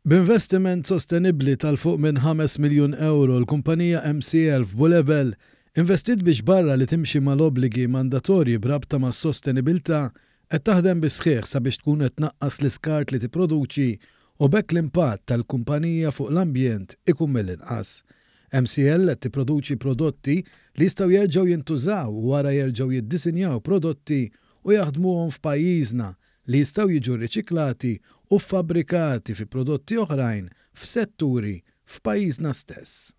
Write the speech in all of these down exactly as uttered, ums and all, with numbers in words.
B'investiment sostenibbli ta' 'l fuq minn ħames miljun euro, l-kumpanija M C L f'Bulebel investiet biex, barra li timxi mal-obbligi mandatorji b'rabta mas sostenibilità, qed taħdem bis-sħiħ sabiex tkun qed tnaqqas l-iskart li tipproduċi u b'hekk l-impatt tal-kumpanija fuq l-ambjent ikun mill-inqas. M C L qed tipproduċi prodotti li jistgħu jerġgħu jintużaw u wara jerġgħu jiddisinjaw prodotti u jaħdmuhom f'pajjiżna li jistgħu jiġu riċiklati u fabbrikati fi prodotti oħrajn f'setturi f'pajjiżna stess.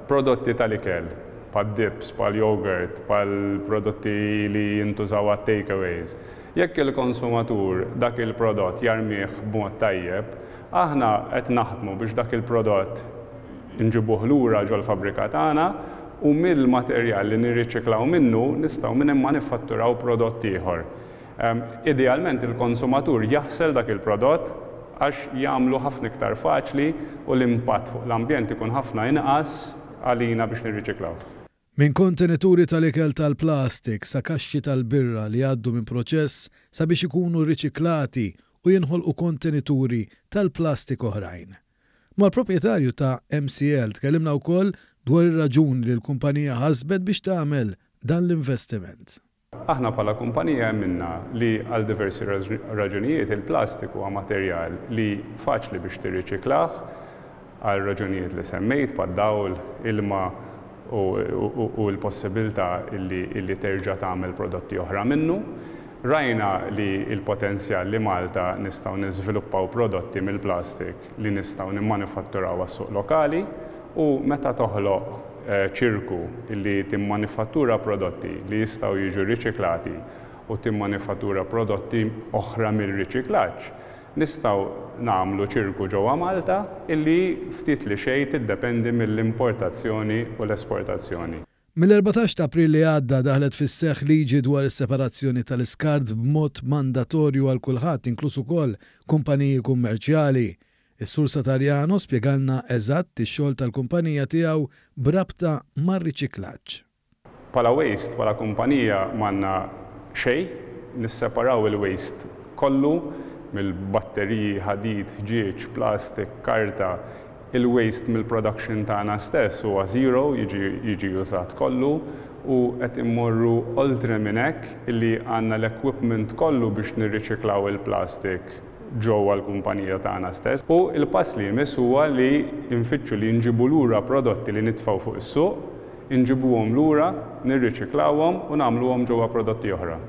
Prodotti tal-ikel, bħal dips, bħal yogurt, bħal prodotti li jintużaw għat takeaways. Jekk il-konsumatur dak il-prodott jarmih b'mod tajjeb, aħna qed naħdmu biex dak il-prodott nġibuh lura ġol-fabrika tagħna u mill-materjal li nirriċiklaw minnu nistgħu minn hemm manifatturaw prodott ieħor. Idealment il-konsumatur jaħsel dak il-prodott għax jagħmlu ħafna iktar faċli u l-impatt fuq l-ambjent ikun ħafna inqas għalina biex nirriċiklaw. Minn kontenituri tal-ikel tal-plastik sa kaxxi tal-birra li għaddu minn proċess sabiex ikunu riċiklati u jinħolqu kontenituri tal-plastik oħrajn. Mal-proprjetarju ta' M C L tkellimna wkoll dwar ir-raġuni li l-kumpanija ħasbet biex tagħmel dan l-investiment. Aħna bħala kumpanija emminna li għal diversi raġunijiet il-plastik huwa materjal li faċli biex tirriċiklah għal raġunijiet li semmejt, bħad-dawl, ilma u l-possibilità li terġa' tagħmel prodotti oħra minnu. Rajna li il-potenzjal li Malta nistgħu niżviluppaw prodotti mill-plastik li nistgħu nimmanifatturaw għas-suq lokali u meta toħloq eh, ċirku li timmanifattura prodotti li jistgħu jiġu riċiklati u timmanifattura prodotti oħra mill-riċiklaġġ, nistgħu nagħmlu ċirku ġewwa Malta illi ftit li xejn tiddependi mill-importazzjoni u l-esportazzjoni. Mill-erbatax ta' April li għadda daħlet fis-seħħ liġi dwar is-separazzjoni tal-iskart b'mod mandatorju għal kulħadd, inkluż ukoll kumpaniji kummerċjali. Is-Sur Satarjano spjegalna eżatt ix-xogħol tal-kumpanija tiegħu b'rabta mar-riċiklaġġ. Bħala waste, bħala kumpanija, m'għandna xejn, nisseparaw il-waste kollu mill-batteriji, ħadid, ħġieġ, plastik, karta. Il-waste mill-production tagħna stess huwa zero, jiġi jiġi użat kollu u qed immorru oltre minn hekk illi għandna l-equipment kollu biex nirriċiklaw il-plastik ġewwa l-kumpanija tagħna stess. U il-pass li jmiss huwa li nfittxu li nġibu lura prodotti li nitfgħu fuq is-suq, nġibuhom lura, nirriċiklawhom u nagħmluhom ġewwa prodotti oħra.